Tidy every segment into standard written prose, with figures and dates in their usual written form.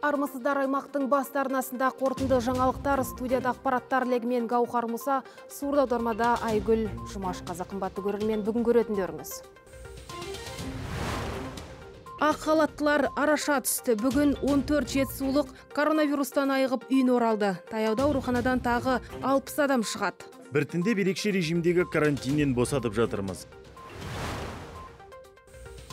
Армысыздар, аймақтың басты арнасында қорытынды жаңалықтар, студияда ақпараттар легімен Гаухар Мұса, сурда аудармада Айгүл Жұмашқазы. Қымбатты көрермен, бүгін көретіндеріңіз. Ақ халаттылар араша түсті. Бүгін 14 жетісулық коронавирустан айығып үйіне оралды. Таяуда ауруханадан тағы 60 адам шығады. Біртіндеп ерекше режимдегі карантиннен босатып жатырмыз.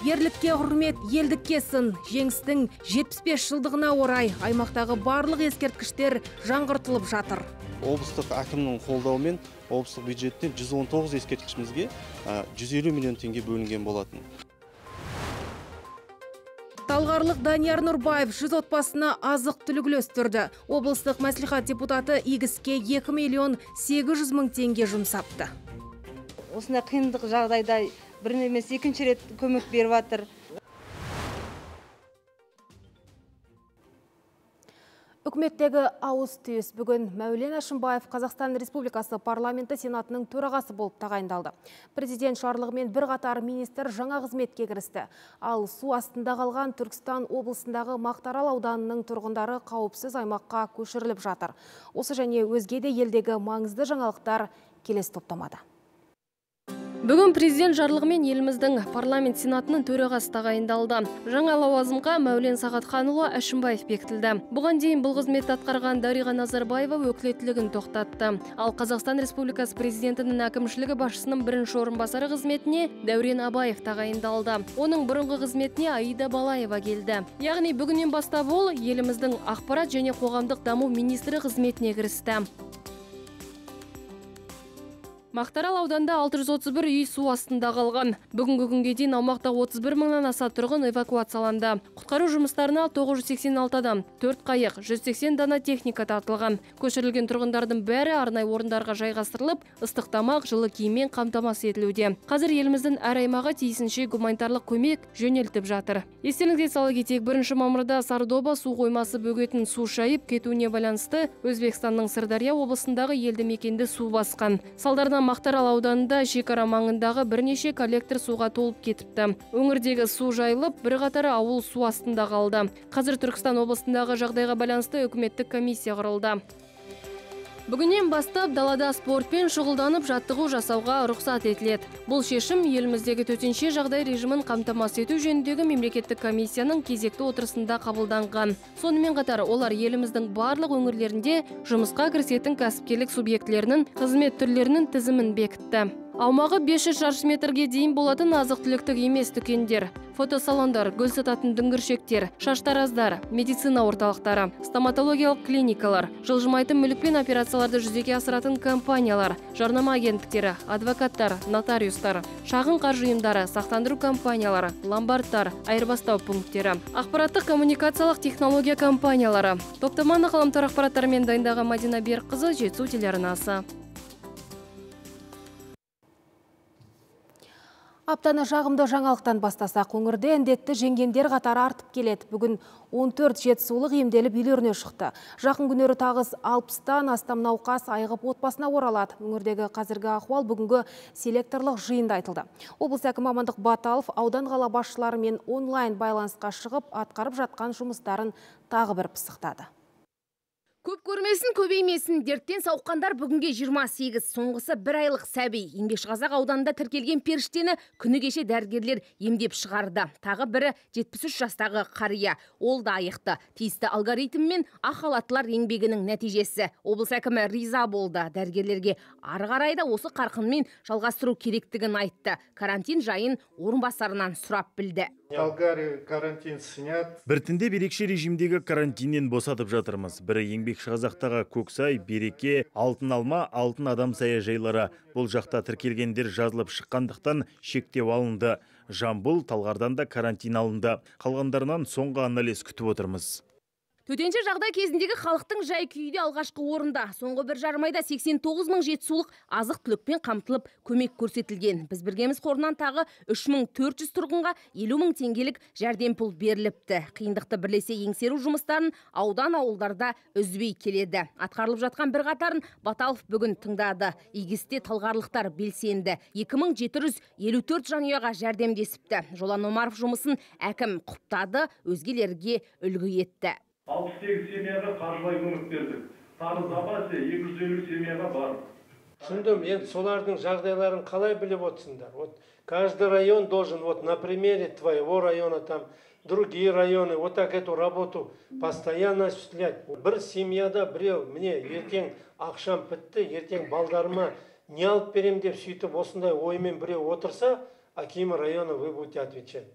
Ерлікке құрмет, елдікке сын. Жеңістің 75 жылдығына орай аймақтағы барлық ескерткіштер жаңғыртылып жатыр. Облыстық әкімнің қолдауымен облыстық бюджеттен 119 ескерткішімізге 150 миллион теңге бөлінген болатын. Талғарлық Данияр Нұрбаев 100 отбасына азық түлік үлестірді. Облыстық мәслихат депутаты игіске 2 миллион 800 мың теңге жұмсапты. Осындай қиындық жағдайда бір емес екінші рет көмек беріп жатыр. Үкіметтегі ауыз түйіс. Бүгін Мәулен Әшімбаев Қазақстан Республикасы парламенті сенатының төрағасы болып тағайындалды. Президент жарлығымен бірқатар министр жаңа қызметке кірісті. Ал су астында қалған Түркістан облысындағы Мақтаарал ауданының тұрғындары қауіпсіз аймаққа көшіріліп жатыр. Осы және өзге де елдегі маңызды жаңалықтар келесі топтамада. Бүгін президент жарлығымен еліміздің парламент сенатының төрағасы тағайындалды. Жаңа лауазымға Мәулен Сағатханұлы Әшімбаев бекітілді. Бұған дейін бұл қызметті атқарған Дариға Назарбаева өкілеттілігін тоқтатты. Ал Қазақстан Республикасы президентінің әкімшілігі басшысының бірінші орынбасары қызметіне Дәурен Абаев тағайындалды. Оның бұрынғы қызметіне Аида Балаева келді. Яғни бүгіннен бастап ол еліміздің ақпарат және қоғамдық даму министрі қызметіне кірісті. Мақтаарал ауданында 631 үй су астында қалған. Бүгінгі күнге дейін аумақта 31 мыңнан аса тұрғын эвакуацияланды. Құтқару жұмыстарына 986 адам, 4 қайық, 180 дана техника тартылған. Көшірілген тұрғындардың бәрі арнайы орындарға жайғастырылып, ыстық тамақ, жылы киіммен қамтамасыз етілуде. Қазір еліміздің әр аймағы тиісінше гуманитарлық көмек жөнелтіп жатыр. Естеріңізге сала кетейік, 1 мамырда Сардоба су қоймасы бөгетін су шайып кетуіне байланысты Өзбекстанның Сырдария облысындағы елді мекенді су басқан. Салдарынан Мақтаарал ауданында шекара маңындағы бірнеше коллектор суға толып кетіпті. Өңірдегі су жайылып, бірқатар ауыл су астында қалды. Қазір Түркістан облысындағы жағдайға байланысты үкіметтік комиссия құрылды. Бүгіннен бастап далада спортпен шұғылданып жаттығу жасауға рұқсат етіледі. Бұл шешім еліміздегі төтенше жағдай режимін қамтамасыз ету жөніндегі мемлекеттік комиссияның кезекті отырысында қабылданған. Сонымен қатар олар еліміздің барлық өңірлерінде жұмысқа кірісетін кәсіпкерлік субъектілерінің қызмет түрлерінің тізімін бекітті. Аумағы 500 шаршы метрге дейін болатын азық-түліктік емес дүкендер, фотосалондар, гүл сататын дүңгіршектер, шаштараздар, медицина орталықтары, стоматологиялық клиникалар, жылжымайтын мүлікпен операцияларды жүзеге асыратын компаниялар, жарнама агенттіктері, адвокаттар, нотариустар, шағын қаржы ұйымдары, сақтандыру компаниялары, ломбардтар, айырбастау пункттері, ақпараттық коммуникациялық технология компаниялары. Топтаманы ғаламтор ақпараттарымен дайындаған Мадина Берікқызы, Жетісу телеарнасы. Аптаны жағымды жаңалықтан бастасақ, өңірде індетті жеңгендер қатары артып келеді. Бүгін 14 жетісулық емделіп үйлеріне шықты. Жақын күндері тағыз 60-тан астам науқас айығып отбасына оралады. Өңірдегі қазіргі ахуал бүгінгі селекторлық жиында айтылды. Облыс әкімі Амандық Баталов аудан қала басшыларымен онлайн байланысқа шығып, атқарып жатқан жұмыстарын тағы бір пысықтады. Көп көрмесін, көбеймесін, дерттен сауыққандар бүгінге 28, соңғысы 1 айлық сәби. Еңбекшіқазақ ауданында тіркелген періштені күні кеше дәрігерлер емдеп шығарды. Тағы бірі 73 жастағы қария. Ол да айықты. Тиісті алгоритммен ақ халаттылар еңбегінің нәтижесі. Облыс әкімі риза болды. Дәрігерлерге ары қарай да осы қарқынмен жалғастыру керектігін айтты. Карантин жайын орынбасарынан сұрап білді. Карантин снят. Біртіндеп ерекше режимдегі карантиннен босатып жатырмыз. Бірі Еңбекшіқазақтағы Көксай, Береке, Алтын Алма, Алтын Адам саяжайлары. Бұл жақта тіркелгендер жазылып шыққандықтан шектеу алынды. Жамбыл, Талғардан да карантин алынды. Қалғандарынан соңғы анализ күтіп отырмыз. Төтенше жағдай кезіндегі халықтың жай күйде алғашқы орында. Соңғы 1,5 айда 89 мың жетісулық азық түлікпен қамтылып көмек көрсетілген. Біз біргеміз қорынан тағы 3400 тұрғынға 50 мың теңгелік жәрдемпұл беріліпті. Қиындықты бірлесе еңсеру жұмыстарын аудан ауылдарда үзбей келеді. Атқарылып жатқан бір қатарын Баталов бүгін тыңдады. Игісте талғарлықтар белсенді. 2754 жанұяға жәрдемдесіпті. Жолан Омаров жұмысын әкім құптады, өзгелерге үлгі етті. 68 семьяға қаржылай көмек бердік. Тағы запасе 250 семьяға бар. Түсіндім, енді солардың жағдайларын қалай біліп отырсыңдар? Вот каждый район должен вот на примере твоего района там другие районы вот так эту работу постоянно осуществлять. Бір семьяда біреу міне ертең ақшам бітті, ертең балдарыма не алып берем деп сөйтіп осындай оймен біреу отырса, акимы района вы будете отвечать.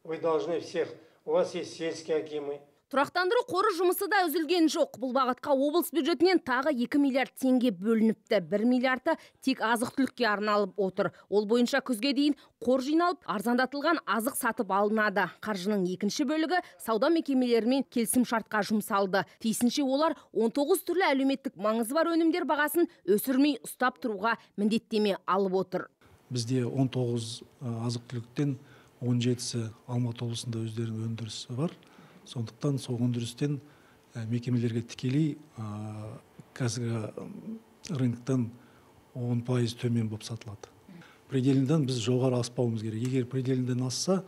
Вы должны всех, у вас есть сельские акимы. Тұрақтандыру қоры жұмысы да үзілген жоқ. Бұл бағытқа облыс бюджетінен тағы 2 миллиард теңге бөлініпті. 1 миллиарды тек азық-түлікке арналып отыр. Ол бойынша күзге дейін қор жиналып, арзандатылған азық сатып алынады. Қаржының екінші бөлігі сауда мекемелерімен келісімшартқа жұмсалды. Тиісінше олар 19 түрлі әлеуметтік маңызы бар өнімдер бағасын өсірмей ұстап тұруға міндеттеме алып отыр. Бізде 19 азық-түліктен 17-сі Алматы облысында өздерінің өндірісі бар. Сондықтан сол өндірістен мекемелерге тікелей қазіргі рыноктан 10% төмен болып сатылады. Пределінден біз жоғары аспауымыз керек. Егер пределінден асса,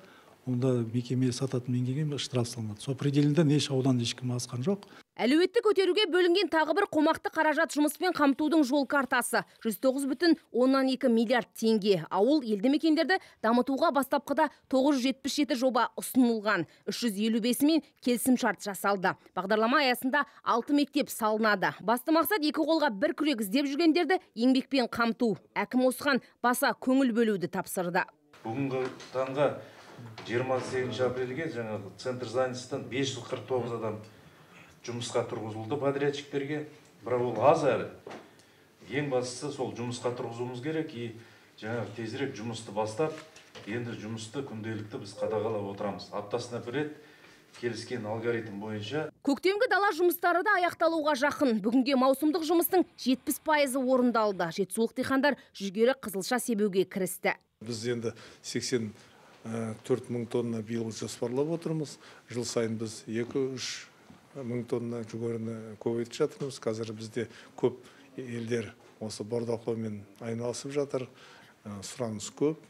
онда мекеме сататын мекемеге штраф салынады. Сол пределінден еш аудан ешкім асқан жоқ. Әлеуетті көтеруге бөлінген тағы бір қомақты қаражат жұмыспен қамтудың жол картасы. 109,2 миллиард теңге. Ауыл елді мекендерді дамытуға бастапқыда 977 жоба ұсынылған. 355-мен келісімшарт жасалды. Бағдарлама аясында 6 мектеп салынады. Басты мақсат екі қолға бір күрек іздеп жүргендерді еңбекпен қамту. Әкім осыған баса көңіл бөлуді тапсырды. Бүгінгі таңға 28 апрельге жаңағы центр занятостан 549 адам жұмысқа тұрғызылды подрядчиктерге, бірақ ол аз әрі. Ең бастысы сол жұмысқа тұрғызуымыз керек, жаңағы тезірек жұмысты бастап, енді жұмысты күнделікті біз қадағалап отырамыз. Аптасына бір рет келіскен алгоритм бойынша. Көктемгі дала жұмыстары да аяқталуға жақын. Бүгінге маусымдық жұмыстың 70% орындалды. Жетісулық диқандар жүгері қызылша себуге кірісті. Біз енді 84 мың тонна биыл жоспарлап отырмыз. Жыл сайын біз 2-3 мың тонна жүгеріні көбейтіп жатырмыз. Қазір бізде көп елдер осы бордақылаумен айналысып жатыр. Сұраныс көп.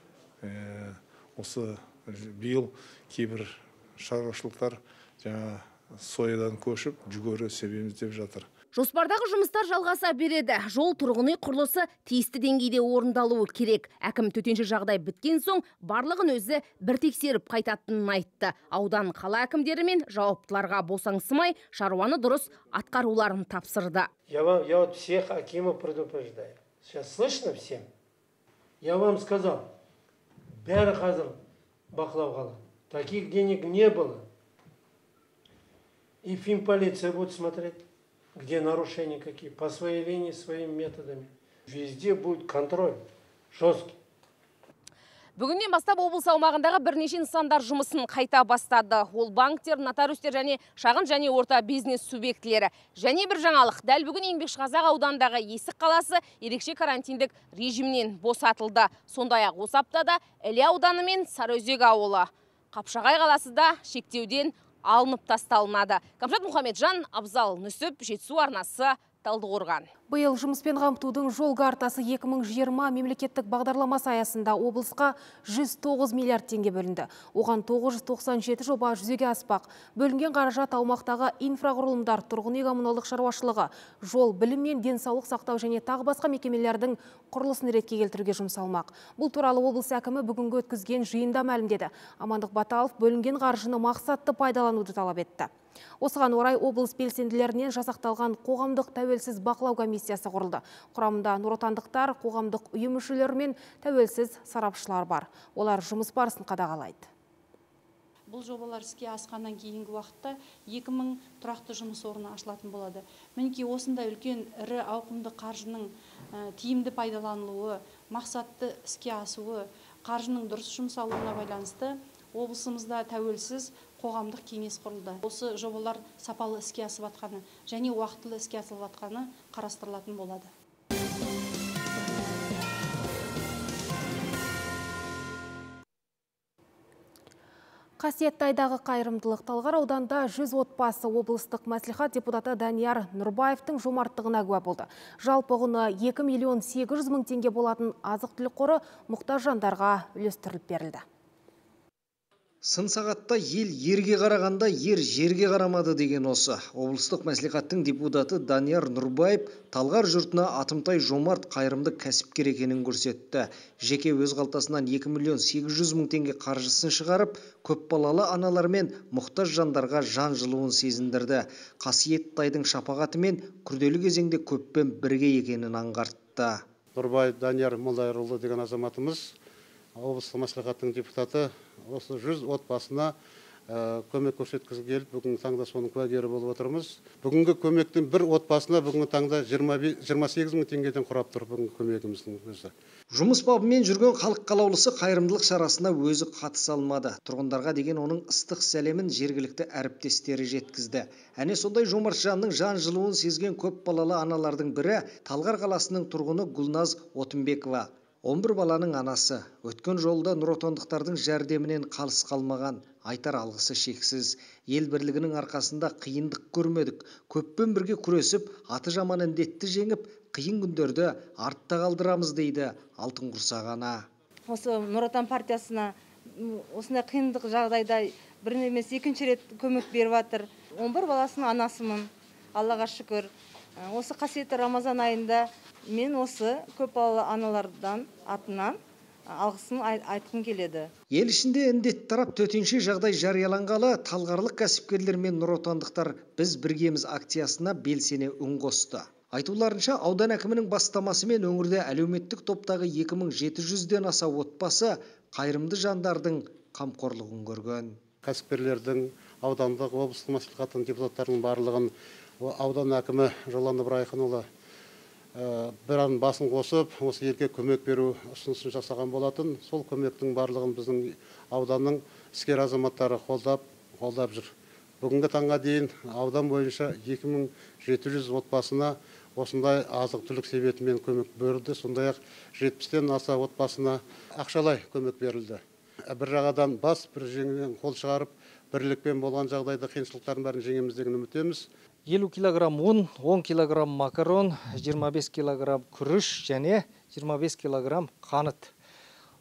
Осы биыл кейбір шаруашылықтар жаңа соядан көшіп жүгері себеміз деп жатыр. Жоспардағы жұмыстар жалғаса береді. Жол, тұрғын үй құрылысы тиісті деңгейде орындалуы керек. Әкім төтенше жағдай біткен соң барлығын өзі бір тексеріп қайтатынын айтты. Аудан қала әкімдері мен жауаптыларға босаңсымай, шаруаны дұрыс атқаруларын тапсырды. Я вот всех акимов предупреждаю. Сейчас слышно всем? Я вам сказал, бәрі қазір бақылауға қалады. Таких денег не было. И финполиция будет смотреть, где нарушения какие, по своей линии, своими методами. Везде будет контроль жесткий. Бүгіннен бастап облыс аумағындағы бірнеше нысандар жұмысын қайта бастады. Ол банктер, нотариустер және шағын және орта бизнес субъектілері. Және бір жаңалық, дәл бүгін Еңбекшіқазақ аудандағы Есік қаласы ерекше карантиндік режимнен босатылды. Сондай-ақ осы аптада Іле ауданы мен Сарыөзек ауылы. Қапшағай қаласы да шектеуден алынып тасталынады. Камшат Мұхамеджан, Абзал Нүсіп, Жетісу арнасы, Талдықорған. Биыл жұмыспен қамтудың жол картасы 2020 мемлекеттік бағдарламасы аясында облысқа 109 миллиард теңге бөлінді. Оған 997 жоба жүзеге аспақ. Бөлінген қаражат аумақтағы инфрақұрылымдар, тұрғын үй коммуналдық шаруашылығы, жол, білім мен денсаулық сақтау және тағы басқа мекемелердің құрылысын ретке келтіруге жұмсалмақ. Бұл туралы облыс әкімі бүгінгі өткізген жиында мәлімдеді. Амандық Баталов бөлінген қаржыны мақсатты пайдалануды талап етті. Осыған орай облыс белсенділерінен жасақталған қоғамдық тәуелсіз бақылау комиссиясы құрылды. Құрамында нұротандықтар, қоғамдық ұйым мүшелері мен тәуелсіз сарапшылар бар. Олар жұмыс барысын қадағалайды. Бұл жобалар іске асқаннан кейінгі уақытта 2000 тұрақты жұмыс орны ашылатын болады. Мінекей осындай үлкен ірі ауқымды қаржының тиімді пайдаланылуы, мақсатты іске асуы, қаржының дұрыс жұмсалуына байланысты облысымызда тәуелсіз қоғамдық кеңес құрылды. Осы жобалар сапалы іске асып жатқаны және уақытылы іске асып жатқаны қарастырылатын болады. Қасиетті айдағы қайырымдылық Талғар ауданда 100 отбасы облыстық мәслихат депутаты Данияр Нұрбаевтың жомарттығына куә болды. Жалпы құны 2,8 миллион теңге болатын азық-түлік қоры мұқтаж жандарға үлестіріліп берілді. Сын сағатта ел ерге қарағанда ер жерге қарамады деген осы. Облыстық мәслихаттың депутаты Данияр Нұрбаев Талғар жұртына атымтай жомарт қайырымды кәсіпкер екенін көрсетті. Жеке өз қалтасынан 2.800.000 теңге қаржысын шығарып, көпбалалы аналар мен мұқтаж жандарға жан жылуын сезіндірді. Қасиет тайдың шапағатымен күрделі кезеңде көппен бірге екенін аңғартты. Нұрбаев Данияр Молдайырұлы деген азаматымыз облыстық мәслихаттың депутаты осы 100 отбасына көмек көрсеткізі келіп, бүгінгі таңда соның куәгері болып отырмыз. Бүгінгі көмектің бір отбасына бүгінгі таңда 28.000 теңгеден құрап тұр бүгінгі көмегіміздің өзі. Жұмыс бабымен жүрген халық қалаулысы қайырымдылық шарасына өзі қатыса алмады. Тұрғындарға деген оның ыстық сәлемін жергілікті әріптестері жеткізді. Әне сондай жомарт жанның жан жылуын сезген көп балалы аналардың бірі Талғар қаласының тұрғыны Гүлназ Отынбекова. 11 баланың анасы. Өткен жолда нұротандықтардың жәрдемінен қалыс қалмаған. Айтар алғысы шексіз. Ел бірлігінің арқасында қиындық көрмедік. Көппен бірге күресіп, аты жаман індетті жеңіп, қиын күндерді артта қалдырамыз дейді Алтын Құрсақ ана. Осы Нұр Отан партиясына осындай қиындық жағдайда бір емес екінші рет көмек беріп жатыр. 11 баласының анасымын. Аллаға шүкір. Осы қасиетті Рамазан айында мен осы көпбалалы аналардан атынан алғысын айтқым келеді. Ел ішінде індет тарап төтенше жағдай жарияланғалы талғарлық кәсіпкерлер мен нұротандықтар біз біргеміз акциясына белсене үн қосты. Айтуларынша аудан әкімінің бастамасымен өңірде әлеуметтік топтағы 2700-ден аса отбасы қайырымды жандардың қамқорлығын көрген. Кәсіпкерлердің, аудандық, облыстық мәслихаттың депутаттарының барлығын аудан әкімі Жолан Ыбырайханұлы бір ан басын қосып, осы елге көмек беру ұсынысын жасаған болатын. Сол көмектің барлығын біздің ауданның іскер азаматтары қолдап жүр. Бүгінгі таңға дейін аудан бойынша 2700 отбасына осындай азық түлік себетімен көмек берілді. Сондай-ақ 70-тен аса отбасына ақшалай көмек берілді. Бір жағадан бас, бір жеңнен қол шығарып, бірлікпен болған жағдайда қиыншылықтардың бәрін жеңеміз деген үміттеміз. 50 килограмм ұн, 10 килограмм макарон, 25 килограмм күріш және 25 килограмм қант.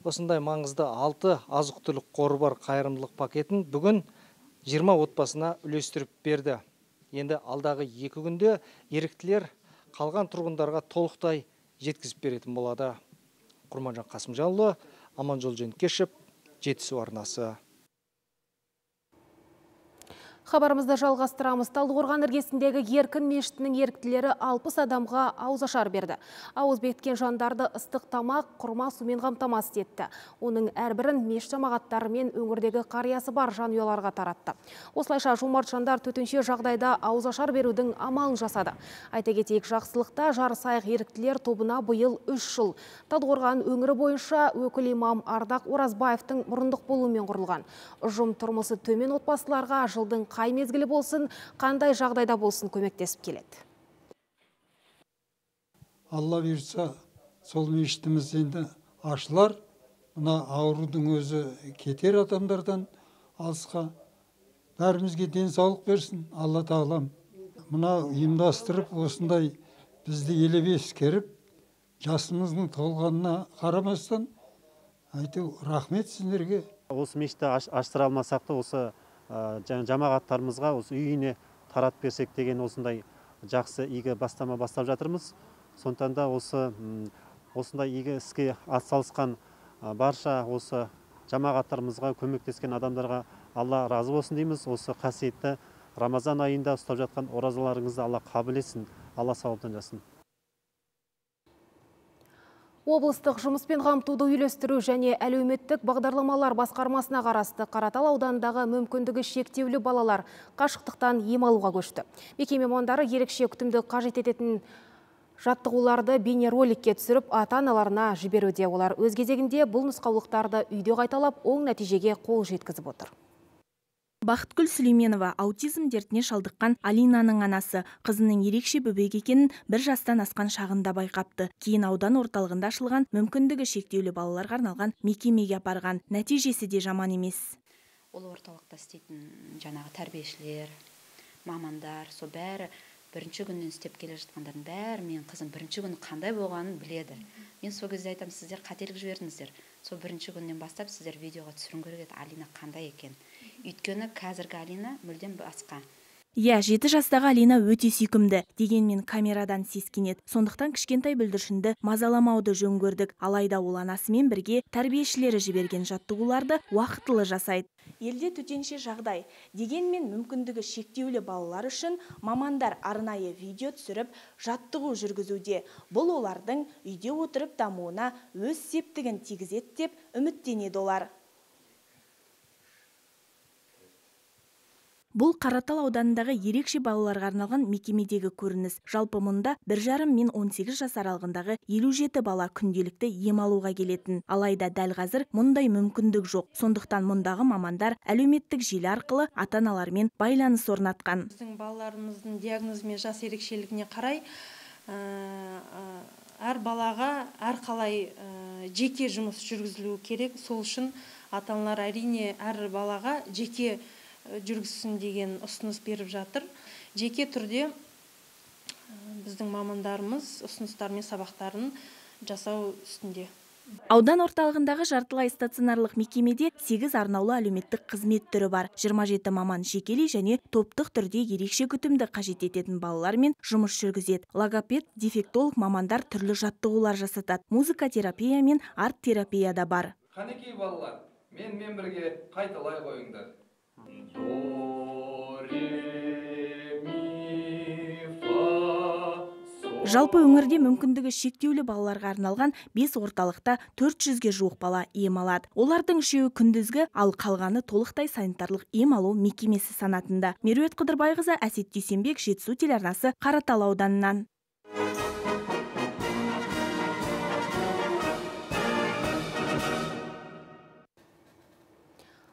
Осындай маңызды 6 азық-түлік қоры бар қайырымдылық пакетін бүгін 20 отбасына үлестіріп берді. Енді алдағы 2 күнде еріктілер қалған тұрғындарға толықтай жеткізіп беретін болады. Құрманжан Қасымжанұлы, Аманжол Женкешев, Жетісу арнасы. Хабарымызды жалғастырамыз. Талдықорған іргесіндегі Еркін мешітінің еріктілері 60 адамға ауызашар берді. Ауыз бекіткен жандарды ыстық тамақ, құрма сумен қамтамасыз етті. Оның әрбірін мешіт жамағаттары мен өңірдегі қариясы бар жанұяларға таратты. Осылайша жомарт жандар төтенше жағдайда ауызашар берудің амалын жасады. Айта кетейік, жақсылықта жарысайық еріктілер тобына биыл 3 жыл. Талдықорған өңірі бойынша өкіл имам Ардақ Оразбаевтың мұрындық болуымен құрылған. Ұжым тұрмысы төмен отбасыларға жылдың қай мезгілі болсын, қандай жағдайда болсын көмектесіп келеді. Алла бұйыртса, сол мешітіміз енді ашылар. Мына аурудың өзі кетер адамдардан алысқа. Бәрімізге денсаулық берсін, Алла тағалам. Мына ұйымдастырып, осындай бізді елеп ескеріп, жасымыздың толғанына қарамастан, айту рахмет сіздерге. Осы мешітті аштыра алмасақ та, осы жамағаттарымызға осы үйіне тарат берсек деген осындай жақсы игі бастама бастап жатырмыз. Сондықтан да осындай игі іске атсалысқан барша осы жамағаттарымызға, көмектескен адамдарға Алла разы болсын дейміз. Осы қасиетті Рамазан айында ұстап жатқан оразаларыңызды Алла қабыл етсін, Алла сауаптан жасын. Облыстық жұмыспен қамтуды үйлестіру және әлеуметтік бағдарламалар басқармасына қарасты Қаратал ауданындағы мүмкіндігі шектеулі балалар қашықтықтан ем алуға көшті. Мекеме мамандары ерекше күтімді қажет ететін жаттығуларды бейнероликке түсіріп ата-аналарына жіберуде. Олар өз кезегінде бұл нұсқаулықтарды үйде қайталап, оң нәтижеге қол жеткізіп отыр. Бақытгүл Сүлейменова аутизм дертіне шалдыққан Алинаның анасы. Қызының ерекше бөбек екенін 1 жастан асқан шағында байқапты. Кейін аудан орталығында ашылған мүмкіндігі шектеулі балаларға арналған мекемеге апарған. Нәтижесі де жаман емес. Ол орталықта істейтін жаңағы тәрбиешілер, мамандар, со бәрі бірінші күннен істеп келе жатқандардың бәрі менің қызым бірінші күні қандай болғанын біледі. Мен сол кезде айтамын, сіздер қателік жібердіңіздер. Сол бірінші күннен бастап сіздер видеоға түсіру керек еді, Алина қандай екен. Өйткені қазіргі Алина мүлдем басқа. Иә, 7 жастағы Алина өте сүйкімді, дегенмен камерадан сескенеді. Сондықтан кішкентай бүлдіршінді мазаламауды жөн көрдік. Алайда ол анасымен бірге тәрбиешілері жіберген жаттығуларды уақытылы жасайды. Елде төтенше жағдай, дегенмен мүмкіндігі шектеулі балалар үшін мамандар арнайы видео түсіріп, жаттығу жүргізуде. Бұл олардың үйде отырып дамуына өз септігін тигізеді деп үміттенеді олар. Бұл Қаратал ауданындағы ерекше балаларға арналған мекемедегі көрініс. Жалпы мұнда 1,5 мен 18 жас аралығындағы 57 бала күнделікті ем алуға келетін. Алайда дәл қазір мұндай мүмкіндік жоқ. Сондықтан мұндағы мамандар әлеуметтік желі арқылы ата-аналармен байланыс орнатқан. Біздің балаларымыздың диагнозы мен жас ерекшелігіне қарай әр балаға әрқалай жеке жұмыс жүргізілуі керек. Сол үшін ата-аналар әрине әр балаға жеке жүргізсін деген ұсыныс беріп жатыр. Жеке түрде біздің мамандарымыз ұсыныстар мен сабақтарын жасау үстінде. Аудан орталығындағы жартылай стационарлық мекемеде 8 арнаулы әлеуметтік қызмет түрі бар. 27 маман жекелей және топтық түрде ерекше күтімді қажет ететін балалармен жұмыс жүргізеді. Логопед, дефектолог мамандар түрлі жаттығулар жасатады. Музыка терапия мен арт терапия да бар. Қанекей балалар, мен бірге қайталай қойыңдар. Жалпы өңірде мүмкіндігі шектеулі балаларға арналған 5 орталықта 400-ге жуық бала ем алады. Олардың 3-і күндізгі, ал қалғаны толықтай санитарлық ем алу мекемесі санатында. Меруерт Қыдырбайқызы, Әсет Дүйсенбек, Жетісу телеарнасы, Қаратал ауданынан.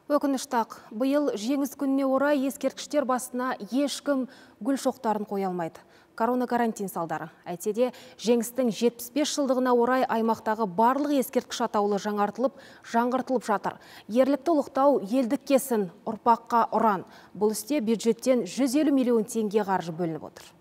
Өкініштақ, бұйыл жеңіс күніне орай ескерткіштер басына ешкім гүл шоқтарын қоя алмайды. Корона карантин салдары. Әйтсе де, жеңістің 75 жылдығына орай аймақтағы барлық ескерткіш атаулы жаңғыртылып жатыр. Ерлікті ұлықтау елдік кесін, ұрпаққа ұран. Бұл істе бюджеттен 150 миллион теңге қаржы бөлініп отыр.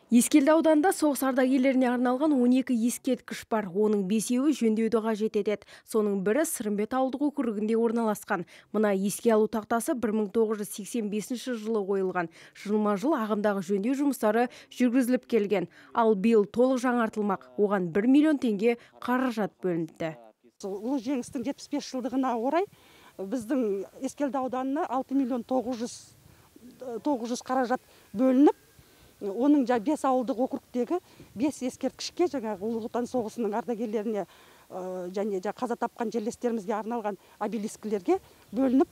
Ескелді ауданында соғыс ардагерлеріне арналған 12 ескерткіш бар. Оның 5-еуі жөндеуді қажет етеді. Соның бірі Сырымбет ауылдық округінде орналасқан. Мына еске алу тақтасы 1985 жылы қойылған. Жылма-жыл ағымдағы жөндеу жұмыстары жүргізіліп келген. Ал биыл толық жаңартылмақ. Оған 1 миллион теңге қаражат бөлінді. Ұлы жеңістің 75 жылдығына орай біздің Ескелді ауданына 6 миллион 900 қаражат бөлініп, оның 5 ауылдық округтегі 5 ескерткішке жаңағы Ұлы Отан соғысының ардагерлеріне және қаза тапқан жерлестерімізге арналған обелискілерге бөлініп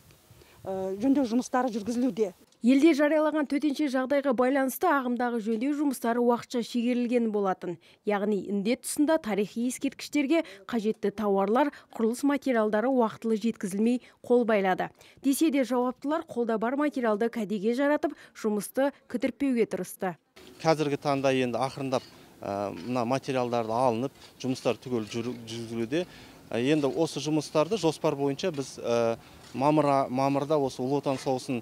жөндеу жұмыстары жүргізілуде. Елде жариялаған төтенше жағдайға байланысты ағымдағы жөндеу жұмыстары уақытша шегерілген болатын. Яғни індет тұсында тарихи ескерткіштерге қажетті тауарлар, құрылыс материалдары уақытылы жеткізілмей қол байлады. Десе де жауаптылар қолда бар материалды кәдеге жаратып, жұмысты кідіртпеуге тырысты. Қазіргі таңда енді ақырындап мына материалдарды алынып, жұмыстар түгел жүргізілуде. Енді осы жұмыстарды жоспар бойынша біз мамырда осы Ұлы Отан соғысының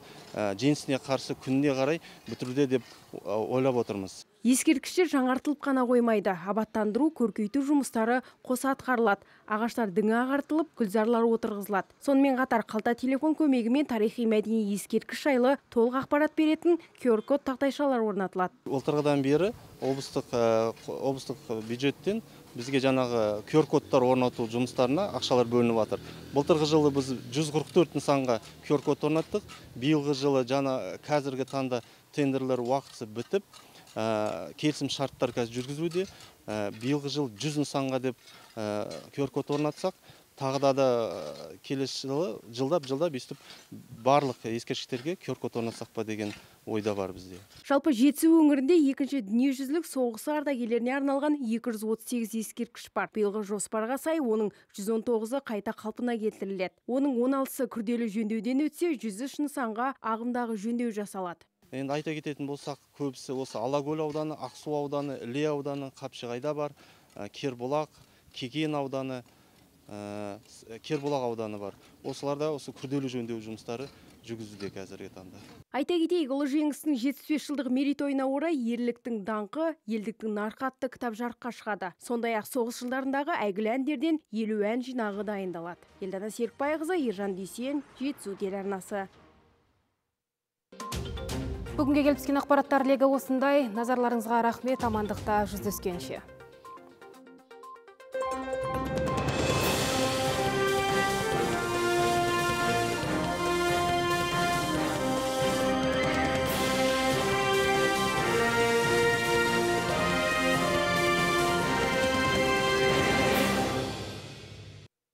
жеңісіне қарсы күніне қарай бітіруде деп ойлап отырмыз. Ескерткіштер жаңартылып қана қоймайды. Абаттандыру, көркейту жұмыстары қоса атқарылады. Ағаштар діңі ағартылып, гүлзарлар отырғызылады. Сонымен қатар қалта телефон көмегімен тарихи мәдени ескерткіш жайлы толық ақпарат беретін QR-код тақтайшалар орнатылады. Былтырғыдан бері облыстық бюджеттен бізге жаңағы QR-кодтар орнату жұмыстарына ақшалар бөлініп жатыр. Былтырғы жылы біз 144 нысанға QR-код орнаттық. Биылғы жылы қазіргі таңда тендерлер уақытысы бітіп, келісім шарттар қазір жүргізуде. Биылғы жыл 100 нысанға деп QR-код орнатсақ, тағы да келесі жылы жылдап өйстіп барлық ескерткіштерге QR-код орнатсақ па деген ойда бар бізде. Жалпы Жетісу өңірінде екінші дүниежүзілік соғысы ардагерлеріне арналған 238 ескерткіш бар. Биылғы жоспарға сай оның 119-ы қайта қалпына келтіріледі. Оның 16-сы күрделі жөндеуден өтсе, 103 нысанға ағымдағы жөндеу жасалады. Енді айта кететін болсақ, көбісі осы Алакөл ауданы, Ақсу ауданы, Іле ауданы, Қапшығайда бар, Кербұлақ, Кеген ауданы, Кербұлақ ауданы бар. Осыларда осы күрделі жөндеу жұмыстары жүргізілуде қазіргі таңда. Айта кетейік, ұлы жеңістің 75 жылдық мерейтойына орай ерліктің даңқы, елдіктің нарқы атты кітап жарыққа шығады. Сондай-ақ соғыс жылдарындағы әйгілі әндерден 50 ән жинағы дайындалады. Елдана Серікбайқызы, Ержан Дүйсен, Жетісу телеарнасы. Бүгінге келіп түскен ақпараттар легі осындай. Назарларыңызға рахмет, амандықта жүздескенше.